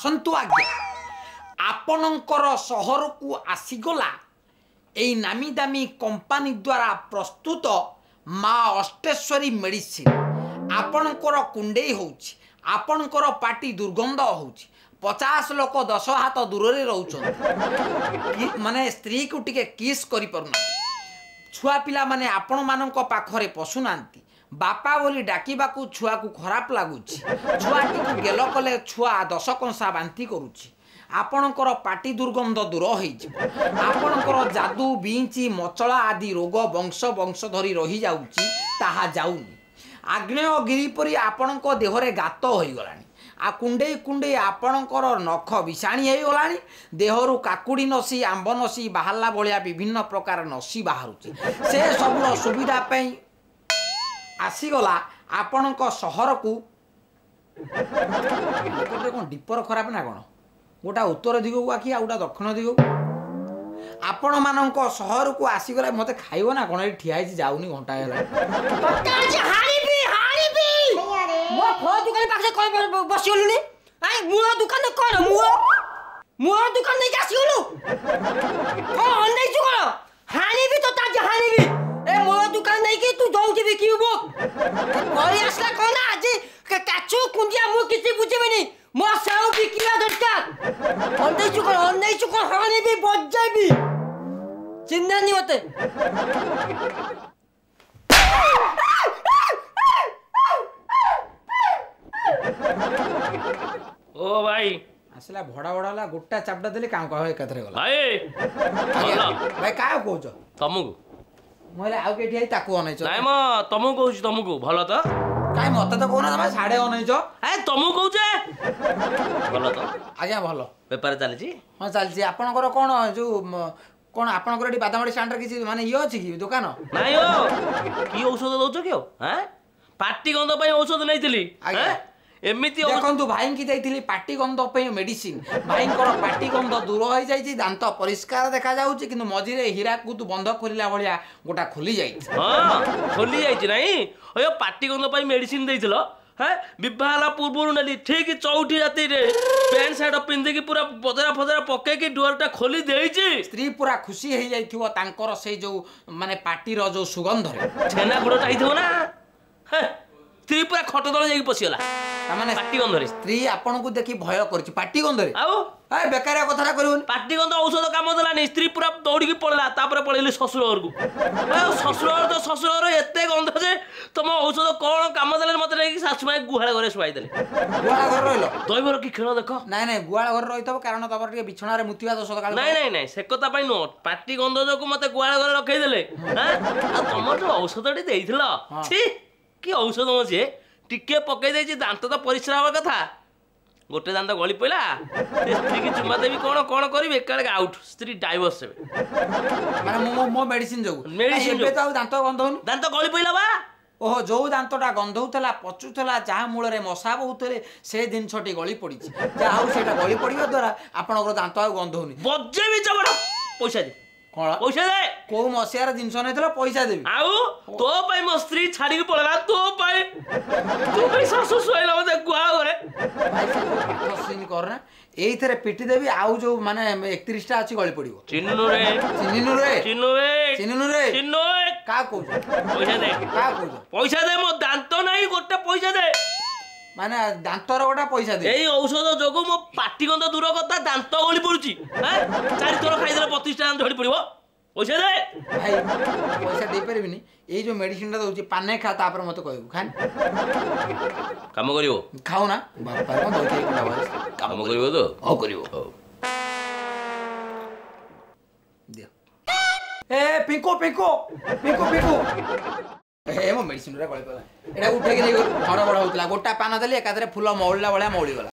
ଆସନ୍ତୁ ଆଜ୍ଞା, ଆପଣଙ୍କର ସହରକୁ ଆସିଗଲା ଏଇ ନାମୀ ଦାମୀ କମ୍ପାନୀ ଦ୍ୱାରା ପ୍ରସ୍ତୁତ ମା ଅଷ୍ଟେଶ୍ୱରୀ ମେଡ଼ିସିନ। ଆପଣଙ୍କର କୁଣ୍ଡେଇ ହେଉଛି, ଆପଣଙ୍କର ପାଟି ଦୁର୍ଗନ୍ଧ ହେଉଛି, 50 ଲୋକ 10 ହାତ ଦୂରରେ ରହୁଛନ୍ତି, ମାନେ ସ୍ତ୍ରୀକୁ ଟିକେ କିସ୍ କରିପାରୁନାହାନ୍ତି, ଛୁଆ ପିଲାମାନେ ଆପଣମାନଙ୍କ ପାଖରେ ପଶୁନାହାନ୍ତି, ବାପା ବୋଲି ଡାକିବାକୁ ଛୁଆକୁ ଖରାପ ଲାଗୁଛି, ଛୁଆଟିକୁ ଗେଲ କଲେ ଛୁଆ 10 କଂସା ବାନ୍ତି କରୁଛି, ଆପଣଙ୍କର ପାଟି ଦୁର୍ଗନ୍ଧ ଦୂର ହେଇଯିବ, ଆପଣଙ୍କର ଯାଦୁ ବିଞ୍ଚି ମଚଳା ଆଦି ରୋଗ ବଂଶ ବଂଶ ଧରି ରହିଯାଉଛି ତାହା ଯାଉନି, ଆଗ୍ନେୟଗିରି ପରି ଆପଣଙ୍କ ଦେହରେ ଗାତ ହୋଇଗଲାଣି, ଆଉ କୁଣ୍ଡେଇ କୁଣ୍ଡେଇ ଆପଣଙ୍କର ନଖ ବିଷାଣି ହେଇଗଲାଣି, ଦେହରୁ କାକୁଡ଼ି ନସି ଆମ୍ବ ନସି ବାହାରିଲା ଭଳିଆ ବିଭିନ୍ନ ପ୍ରକାର ନସି ବାହାରୁଛି, ସେ ସବୁର ସୁବିଧା ପାଇଁ ଆସିଗଲା ଆପଣଙ୍କ ସହରକୁ। କ'ଣ ଡିପର ଖରାପ ନା କ'ଣ? ଗୋଟା ଉତ୍ତର ଦିଗକୁ ଆଖି ଆଉ ଗୋଟା ଦକ୍ଷିଣ ଦିଗକୁ। ଆପଣମାନଙ୍କ ସହରକୁ ଆସିଗଲା। ମୋତେ ଖାଇବ ନା କ'ଣ? ଏଠି ଠିଆ ହେଇଛି ଯାଉନି, ଘଣ୍ଟା ହେଲା। ମୋ ଫଳ ଦୋକାନ ପାଖରେ କଣ ବସିଗଲୁଣି? I ମୂଳ ଦୋକାନ କଣ? ମୂଳ ଦୋକାନ ନେଇକି ଆସିଗଲୁ? କଣ ଅନେଇଛୁ? କଣ ହାଣିବି ତ ଆଜି ହାଣିବି। ଏ ମୂଳ ଦୋକାନ ନେଇକି ତୁ ଦଉଛୁ ବିକିବୁ? ପଳେଇ ଆସିଲା କଣ ନା ଆଜି କାଚୁ କୁଣ୍ଡିଆ ମୁଁ କିଛି ବୁଝିବିନି, ମୋ ସେଉ ବିକିବା ଦରକାର। ଅନେଇଛୁ କଣ? ଅନେଇଛୁ କଣ? ହାଣିବି, ବଜେଇବି, ଚିହ୍ନାନି ମତେ। ଓ ଭାଇ ଆସିଲା, ଭଡା ଭଡା ହେଲା, ଗୋଟା ଚାପଟା ଦେଲେ କାଁ କାଁ ଏକାଥରେ ଗଲା। ଭାଇ ଭାଇ କାହାକୁ କହୁଛ? ତମକୁ। ମୁଁ ହେଲେ ଆଉ କେଠି I ତାକୁ ଅନେଇଛ? ନାଇଁ ମ, ତମକୁ କହୁଛି, ତମକୁ। ଭଲ ତ? କାଇଁ ମତେ ତ କହୁନ, ତମେ ସାଢେ ଅନେଇଛ। ଏ ତମକୁ କହୁଛେ, ଭଲ ତ? ଆଜ୍ଞା ଭଲ। ବେପାର ଚାଲିଛି? ହଁ ଚାଲିଛି। ଆପଣଙ୍କର କ'ଣ ଯୋଉ କ'ଣ ଆପଣଙ୍କର ଏଠି ବାଦାମବାଡ଼ି ଷ୍ଟାଣ୍ଡରେ କିଛି ମାନେ ଇଏ ଅଛି କି ଦୋକାନ? ନାଇଁ ଓ, କି ଔଷଧ ଦଉଛ କି? ଆଉ ପାଟି ଗନ୍ଧ ପାଇଁ ଔଷଧ ନେଇଥିଲି ଆଜ୍ଞା। ଏମିତି ଦେଖନ୍ତୁ, ଭାଇଙ୍କି ଦେଇଥିଲି ପାଟି ଗନ୍ଧ ପାଇଁ ମେଡିସିନ, ଭାଇଙ୍କର ପାଟି ଗନ୍ଧ ଦୂର ହେଇଯାଇଛି, ଦାନ୍ତ ପରିଷ୍କାର ଦେଖାଯାଉଛି, କିନ୍ତୁ ମଝିରେ ହୀରାକୁଦ ବନ୍ଧ ଖୋଲିଲା ଭଳିଆ ଗୋଟା ଖୋଲି ଯାଇଛି। ହଁ ଖୋଲି ଯାଇଛି। ନାଇଁ ଅୟ, ପାଟି ଗନ୍ଧ ପାଇଁ ମେଡିସିନ ଦେଇଥିଲ। ହଁ, ବିବାହ ହେଲା ପୂର୍ବରୁ ନେଲି, ଠିକ ଚଉଠି ରାତିରେ ପ୍ୟାଣ୍ଟ ସାର୍ଟ ପିନ୍ଧିକି ପୁରା ବଜରା ଫଜରା ପକେଇକି ଡୁଆରଟା ଖୋଲି ଦେଇଛି। ସ୍ତ୍ରୀ ପୁରା ଖୁସି ହେଇଯାଇଥିବ ତାଙ୍କର ସେଇ ଯୋଉ ମାନେ ପାଟିର ଯୋଉ ସୁଗନ୍ଧରେ। ଛେନା ଗୁଡ଼ଟା ହେଇଥିବ ନା, ସ୍ତ୍ରୀ ପୁରା ଖଟ ତଳେ ଯାଇକି ପଶିଗଲା। ତାମାନେ ପାଟି ଗନ୍ଧରେ ସ୍ତ୍ରୀ ଆପଣଙ୍କୁ ଦେଖି ଭୟ କରୁଛି ପାଟି ଗନ୍ଧରେ। ଆଉ ଏ ବେକାରିଆ କଥାଟା କରିବନି। ପାଟି ଗନ୍ଧ ଔଷଧ କାମ ଦେଲାନି, ସ୍ତ୍ରୀ ପୁରା ଦୌଡ଼ିକି ପଳେଇଲା। ତାପରେ ପଳେଇଲି ଶ୍ୱଶୁର ଘରକୁ। ଆଉ ଶ୍ୱଶୁର ଘର ତ ଶ୍ୱଶୁର ଘର ଏତେ ଗନ୍ଧ ଯେ ତମ ଔଷଧ କଣ କାମ ଦେଲାନି, ମତେ ନେଇକି ଶାଶୁ ମାଇ ଗୁହାଳ ଘରେ ଶୁଆଇ ଦେଲେ। ଗୁହାଳ ଘରେ ରହିଲ? ଦୈବର କି ଖେଳ ଦେଖ। ନାଇଁ ନାଇଁ, ଗୁହାଳ ଘରେ ରହିଥିବ କାରଣ ତମର ଟିକେ ବିଛଣାରେ ମୁତିବା ଦୋଷ। ନାଇଁ ନାଇଁ ନାଇଁ, ସେ କଥା ପାଇଁ ନୁହଁ, ପାଟି ଗନ୍ଧ ଯୋଗୁ ମତେ ଗୁହାଳ ଘରେ ରଖେଇଦେଲେ। ଆଉ ତମର ଯୋଉ ଔଷଧଟି ଦେଇଥିଲ, ଛି କି ଔଷଧ ମ ସିଏ, ଟିକେ ପକେଇ ଦେଇଛି, ଦାନ୍ତ ତ ପରିସ୍ରା ହବା କଥା, ଗୋଟେ ଦାନ୍ତ ଗଳି ପଇଲା। ସ୍ତ୍ରୀକି ଚୁମା ଦେବି କଣ କଣ କରିବି, ଏକାବେଳେ ଆଉଟ୍, ସ୍ତ୍ରୀ ଡାଇଭର୍ସ ହେବେ। ମାନେ ମୋ ମେଡିସିନ ଯୋଗୁ? ମେଡିସିନ ଏବେ ତ ଆଉ ଦାନ୍ତ ଗନ୍ଧଉନି। ଦାନ୍ତ ଗଳି ପଇଲା ବା। ଓହୋ, ଯୋଉ ଦାନ୍ତଟା ଗନ୍ଧଉଥିଲା, ପଚୁଥିଲା, ଯାହା ମୂଳରେ ମଶା ବହୁଥିଲେ, ସେ ଜିନିଷଟି ଗଳି ପଡ଼ିଛି। ଯାହା ହଉ ସେଇଟା ଗଳି ପଡ଼ିବା ଦ୍ୱାରା ଆପଣଙ୍କର ଦାନ୍ତ ଆଉ ଗନ୍ଧଉନି। ବଜେଇବି ଚବଡ଼। ପଇସା ଦେ। କଣ ପଇସା ଦେ? କୋଉ ମସିହାର ଜିନିଷ ନେଇଥିଲ? ପଇସା ଦେବି। ଆଉ ତୋ ପାଇଁ ମୋ ସ୍ତ୍ରୀ ଛାଡିକି ପଳେଇଲା, ତୋ ପାଇଁ, ତୋ ପାଇଁ ଶାଶୁ ଶୁଆଇଲା ମତେ ଗୁହାଳ ଘରେ। ଭାଇ ସେ ଯୋଉ ପାଠ ସିନ୍ କରନା, ଏଇଥିରେ ପିଟି ଦେବି। ଆଉ ଯୋଉ ମାନେ 31ଟା ଅଛି ଗଳି ପଡିବ। ଚିହ୍ନୁ ରେ, ଚିହ୍ନିନୁ ରେ, ଚିହ୍ନୁ ରେ, ଚିହ୍ନିନୁ ରେ, ଚିହ୍ନୁ। କାହା କହୁଛ? ପଇସା ଦେ। କାହା କହୁଛ? ପଇସା ଦେ, ମୋ ଦାନ୍ତ ନାହିଁ ଗୋଟେ, ପଇସା ଦେ। ମାନେ ଦାନ୍ତର ଗୋଟା ପଇସା ଦେ? ଏଇ ଔଷଧ ଯୋଗୁ ମୋ ପାଟି ଗନ୍ଧ ଦୂର କଥା, ଦାନ୍ତ ଗଳି ପଡୁଛି। 4 ଥର ଖାଇଦେଲେ 32ଟା ଦାନ୍ତ ଝଡି ପଡିବ। ପଇସା ଦେ। ଭାଇ ପଇସା ଦେଇପାରିବିନି। ଏଇ ଯୋଉ ମେଡିସିନଟା ଦଉଛି ପାନେ ଖା, ତାପରେ ମତେ କହିବୁ। ଖାନି କାମ କରିବ? ଖାଉ ନା ବାପା କଣ ଦଉଛି। କାମ କରିବ ତ? ହଉ କରିବ। ହଉ ଦିଅ। ଏ ପିଙ୍କୁ ପିଙ୍କୁ ପିଙ୍କୁ ପିଙ୍କୁ, ଏ ମୋ ମେଡିସିନ ଗୁରା ଗଳି ପଇଲା। ଏଟା ଉଠେଇକି ନେଇ ଘଡ ବଡ ହଉଥିଲା, ଗୋଟା ପାନ ଦେଲି ଏକାଥରେ ଫୁଲ ମଉଳିଲା ଭଳିଆ ମଉଳିଗଲା।